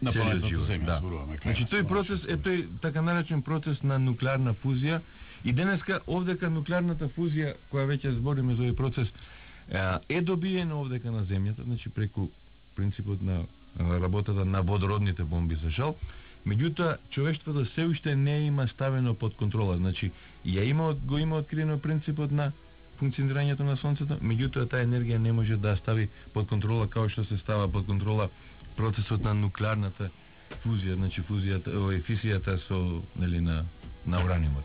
на целиот планетата живот. Земја, Да. зборуваме. Значи тој процес е тој така наречен процес на нуклеарна фузија и денеска овдека нуклеарната фузија која веќе збориме за овој процес е добиена овдека на земјата, значи преку принципот на работата на водородните бомби за жал. Меѓутоа човештвото се уште не има ставено под контрола, значи го има откриено принципот на функционирањето на сонцето, меѓутоа таа енергија не може да стави под контрола како што се става под контрола процесот на нуклеарната фузија, значи физијата со нели на ураниумот.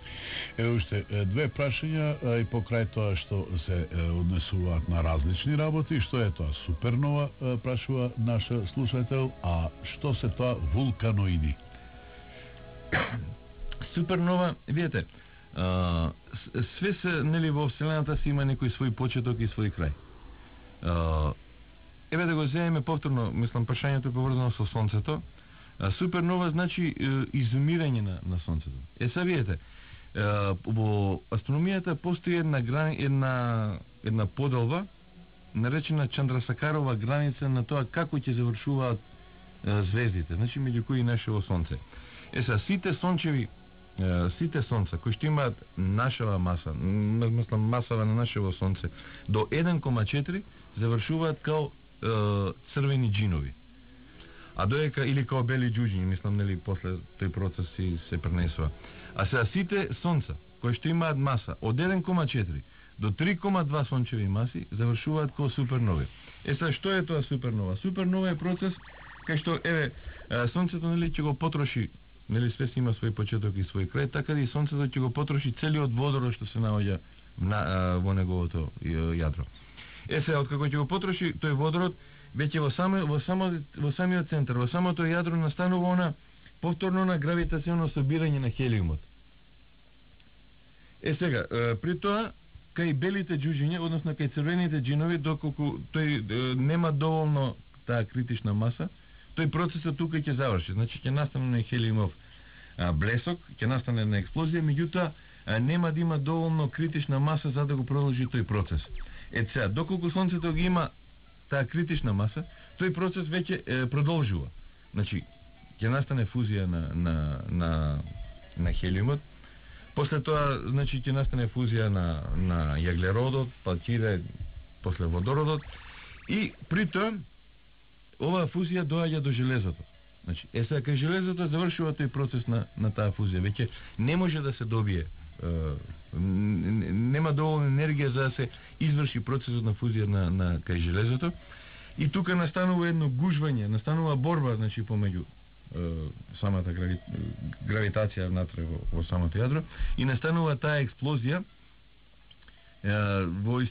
Уште две прашања и покрај тоа што се однесуваат на различни работи. Што е тоа супернова, прашува наша слушател, а што се тоа вулканоиди? Супернова, видите, све се, нели, во Вселената си има некој свој почеток и свој крај. Еве да го земеме повторно, мислам, прашањето поврзано со Сонцето. Супернова значи изумирање на Сонцето. Сега видите, во астрономијата постои една поделба, наречена Чандрасакарова граница на тоа како ќе завршуваат звездите, значи меѓу кои нашево Сонце. Сега сите сонца кои што имаат нашава маса, мислам масава на нашево Сонце, до 1,4 завршуваат као црвени джинови. А доека или као бели џуџињи, мислам, нели, после тој процес се пренесува. А сега сите сонца кои што имаат маса од 1,4 до 3,2 сончеви маси завршуваат као супернови. Сега што е тоа супернова? Супернова е процес кај што сонцето, нели, ќе го потроши, нели, све си има свој почеток и свој крај, така и сонцето ќе го потроши целиот водород што се наоѓа во неговото јадро. Сега откако ќе го потроши тој водород, веќе во самиот центар, во самото јадро настанува она повторно на гравитационо собирање на хелиумот. Сега, при тоа, кај белите џуџиња, односно кај црвените џинови, доколку тој нема доволно таа критична маса, тој процесот тука ќе заврши. Значи ќе настане хелиумов блесок, ќе настане една експлозија, меѓутоа нема да има доволно критична маса за да го продолжи тој процес. Сега, доколку Сонцето ги има таа критична маса, тој процес веќе продолжува. Значи, ќе настане фузија на хелиумот, после тоа, значи, ќе настане фузија на јаглеродот, па ќе иде после водородот, и при тоа, оваа фузија доаѓа до железото. Значи, сега кај железото завршува тој процес на таа фузија, веќе не може да се добие, нема доволно енергија за да се изврши процесот на фузија на кај железото, и тука настанува едно гужвање, настанува борба, значи, помеѓу самата гравитација внатре во самото јадро, и настанува таа експлозија во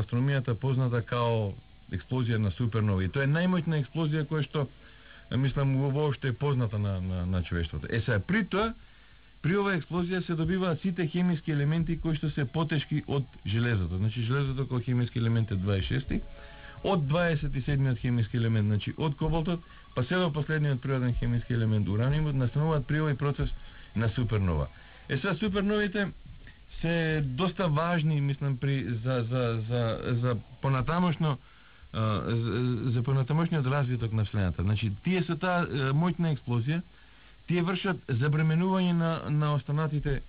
астрономијата позната као експлозија на супернови. Тоа е најмоćна експлозија која што, мислам, воопшто е позната на човештвото. Сега, при тоа, при оваа експлозија се добиваат сите хемиски елементи кои што се потешки од железото. Значи, железото како хемиски елемент е 26, од 27-миот хемиски елемент, значи од кобалтот, па се до последниот природен хемиски елемент ураниумот, настануваат при овој процес на супернова. Сега, суперновите се доста важни, мислам, за понатамошно за понатамошниот развиток на Вселената. Значи, тие со таа моќна експлозија, тие вршат забременување на останатите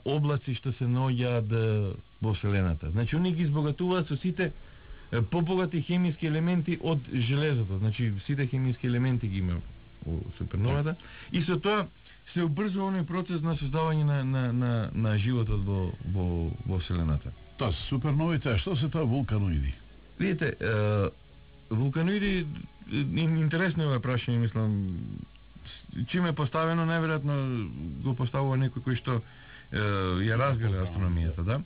облаци што се наоѓаат во Вселената. Значи, они ги избогатуваат со сите побогати хемиски елементи од железото. Значи, сите хемиски елементи ги има во суперновата, и со тоа се убрзува оној процес на создавање на животот во Вселената. Тоа се суперновите, а што се тоа вулканоиди? Видите, вулканоиди, интересно е прашање, мислам, чим е поставено, најверојатно го поставува некој кој што ја разгледа астрономијата, да?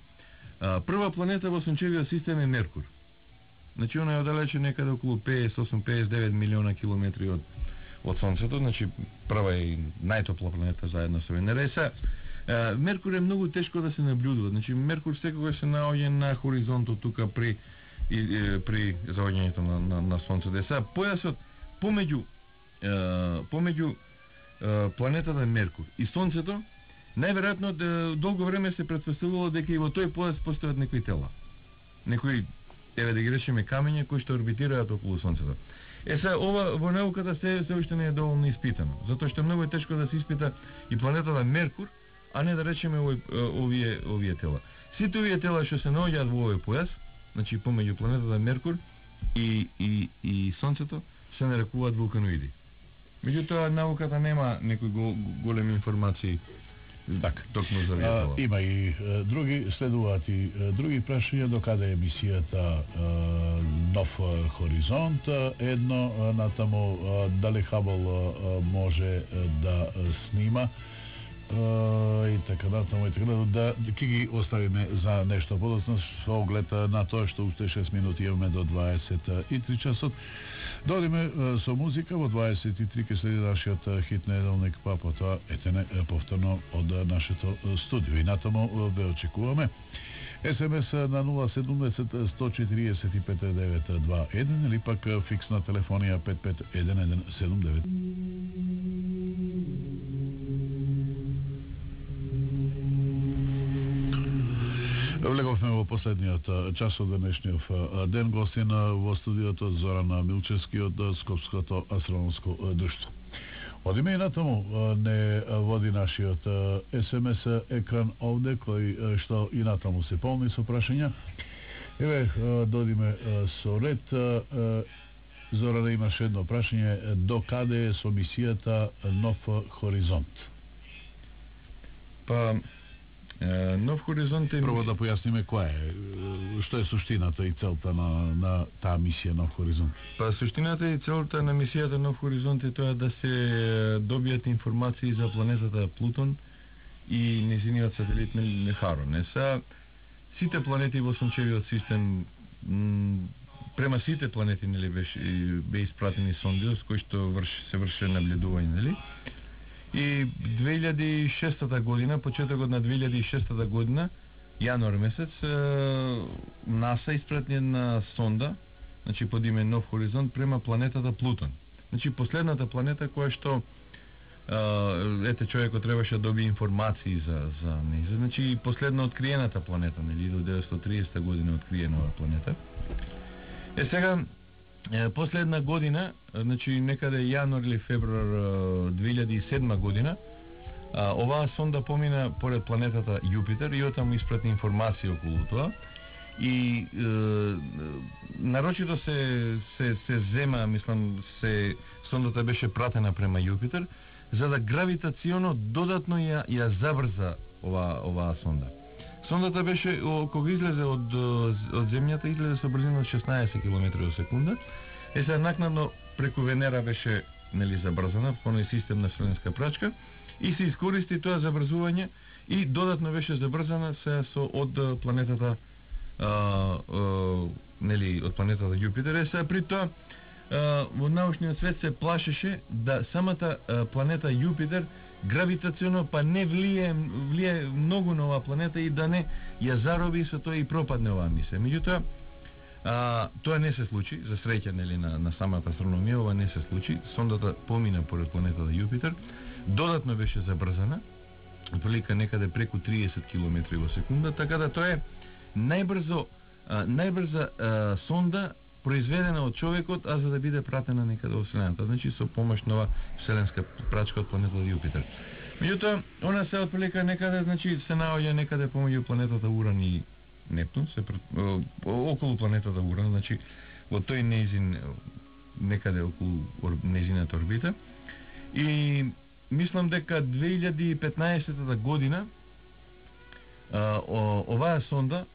Прва планета во сончевиот систем е Меркур. Значи, она е оддалече некаде околу 58-59 милиона километри од Сонцето, значи прва е најтопла планета заедно со Венера. Меркур е многу тешко да се наблюдува. Значи, Меркур секогаш се наоѓа на хоризонтот тука при заоѓањето на Сонцето. Сега, појасот помеѓу планетата Меркур и Сонцето, најверојатно долго време се претпоставувало дека и во тој појас постојат некои тела. Некои, еве да ги речеме, камења кои што орбитираат околу Сонцето. Сега ова во науката се уште не е доволно испитано, затоа што многу е тешко да се испита и планетата Меркур, а не да речеме овие тела. Сите овие тела што се наоѓаат во овој појас, значи помеѓу планетата Меркур и Сонцето, се нарекуваат вулканоиди. Меѓутоа науката нема некои големи информации. Так, токму за овие тела. Има и следуваат и други прашања до каде емисијата Нов хоризонт, едно натаму дали Хабл може да снима и така натаму и така да ќе ги оставиме за нешто подоцна со оглед на тоа што уште 6 минути имаме до 23 часот. Додиме со музика, во 23 ќе следи нашиот хит неделник, па потоа етене повторно од нашето студио. И натаму ве очекуваме. СМС на 070 145 921 или пак фиксна телефонија 551179. Влеговме во последниот час од денешниот ден. Гостин во студиото Зоран Милчевски од Скопското астрономско друштво. Одиме и натаму, не води нашиот СМС екран овде, кој што и натаму се полни со прашања. Еве, додиме со ред. Зоран, имаше едно прашање, до каде е со мисијата Нов хоризонт? Па, Нов хоризонт е... Прво да појасниме која е, што е суштината и целта на таа мисија Нов хоризонт. Па суштината и целта на мисијата Нов хоризонт е тоа да се добијат информации за планетата Плутон и нејзиниот сателит Харон. Са сите планети во сончевиот систем, према сите планети нели бе испратени сонди со кои што се врши наблюдување, нели? И 2006 година, почетокот на 2006 година, јануар месец, НАСА испрати една сонда, значи под име Нов хоризонт, према планетата Плутон. Значи последната планета која што човекот требаше да добие информации за неја. Значи последно откриената планета, нели, до 1930 година откриена ова планета. Сега последна година, значи некаде јануар или февруар 2007 година, оваа сонда помина поред планетата Јупитер и оттаму испрати информација околу тоа. И нарочито се зема, мислам, сондата беше пратена према Јупитер, за да гравитационо додатно ја забрза оваа сонда. Сондата беше, кога излезе од земјата, излезе со брзина од 16 км во секунда. Сега накнадно преку Венера беше, нели, забрзана по оној систем на вселенска прачка и се искористи тоа забрзување и додатно беше забрзана сега од планетата нели, од планетата Јупитер. Сега при тоа во научниот свет се плашеше да самата планета Јупитер гравитационно па не влие многу на оваа планета и да не ја зароби со тоа и пропадне оваа мисија. Меѓутоа, тоа не се случи, за среќа, нели, на самата астрономија, ова не се случи. Сондата помина поред планетата Јупитер, додатно беше забрзана, отприлика некаде преку 30 км во секунда, така да тоа е најбрза сонда произведена од човекот, а за да биде пратена некаде во Вселената, значи со помош на ова вселенска прачка од планетата Јупитер. Меѓутоа, она се отприлика некаде, значи се наоѓа некаде помеѓу планетата Уран и Нептун, околу планетата Уран, значи во тој нејзин, некаде околу нејзината орбита. И мислам дека 2015 година оваа сонда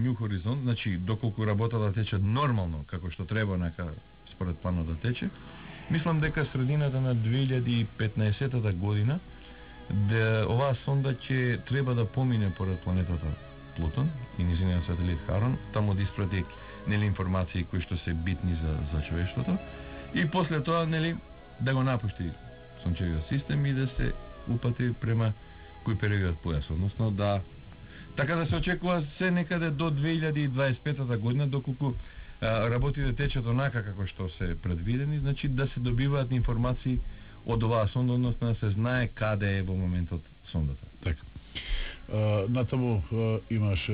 Нью Хоризонт, значи доколку работата тече нормално, како што треба, нака според планот да тече, мислам дека средината на 2015 година оваа сонда ќе треба да помине поред планетата Плутон и нејзиниот сателит Харон, таму да испрати, нели, информации кои што се битни за човештвото и после тоа, нели, да го напушти сончевиот систем и да се упати према Кујперевиот појас, односно да така да се очекува се некаде до 2025 година, доколку работите течат онака како што се предвидени, значи да се добиваат информации од оваа сонда, односно да се знае каде е во моментот сондата. Така. Натаму имаш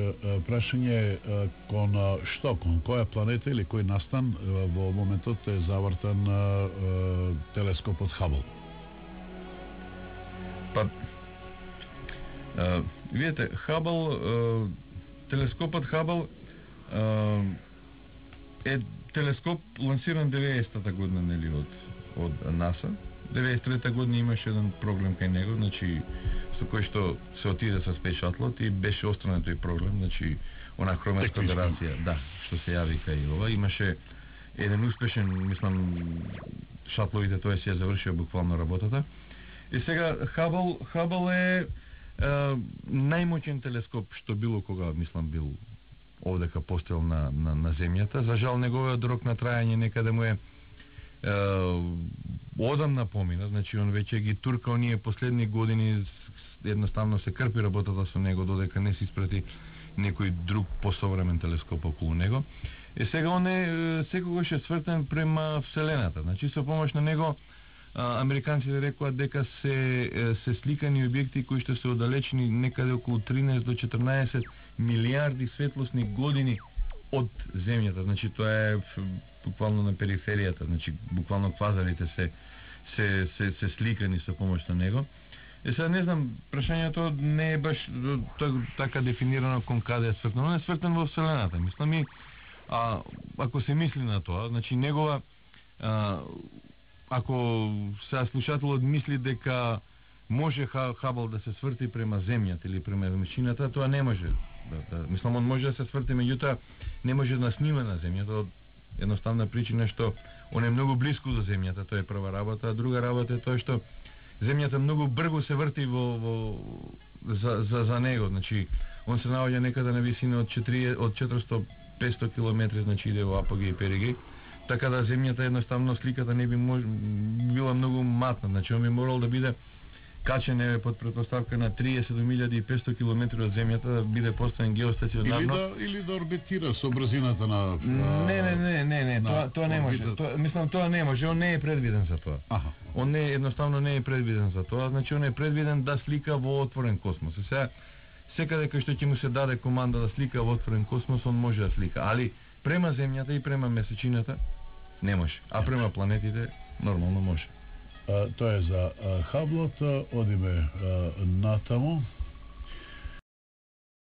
прашање кон што, кон која планета или кој настан во моментот е завртан телескопот Хабл? Па, видите, Хабл, телескопот Хабл е телескоп лансиран 90-та година, нели, од НАСА. 93-та година имаше еден проблем кај него, значи со кој што се отиде со Space Shuttle и беше острана тој проблем, значи она хроматска федерација, да, што се јави кај ова, имаше еден успешен, мислам, шатловите, тоа си ја завршија буквално работата. И сега Хабл е најмоćен телескоп што било кога, мислам, бил овдека поставил на земјата. За жал неговиот рок на трајање некаде му е одамна помина, значи он веќе ги турка оние последни години, едноставно се крпи работата со него додека не се испрати некој друг посовремен телескоп околу него. И сега он е секогаш е свртен према Вселената. Значи со помош на него американците рекоа дека се сликани објекти кои што се оддалечени некаде околу 13 до 14 милиарди светлосни години од земјата. Значи тоа е буквално на периферијата, значи буквално квазарите се сликани со помош на него. И сега не знам, прашањето не е баш така дефинирано кон каде е свртен. Он е свртен во Вселената. Мислам и ако се мисли на тоа, значи негова ако сега слушателот мисли дека може Хабл да се сврти према земјата или према висината, тоа не може. Мислам, он може да се сврти, меѓутоа не може да снима на земјата од едноставна причина што он е многу близко до земјата, тоа е прва работа, а друга работа е тоа што земјата многу брзо се врти за него, значи он се наоѓа некаде на висина од 400-500 км, значи иде во апогеј и перигеј. Така да земјата едноставно сликата не би била многу матна, значи он би морал да биде качен под претпоставка на 30.500 км од земјата, да биде поставен геостационарно. Или да орбитира со брзината на... Не, тоа не може. Мислам, тоа не може, он не е предвиден за тоа. Он едноставно не е предвиден за тоа, значи он е предвиден да слика во отворен космос. Сега, секаде кај што ќе му се даде команда да слика во отворен космос, он може да слика, али према земјата и према месечината не може, а према планетите нормално може. Тоа е за Хаблот, одиме натаму.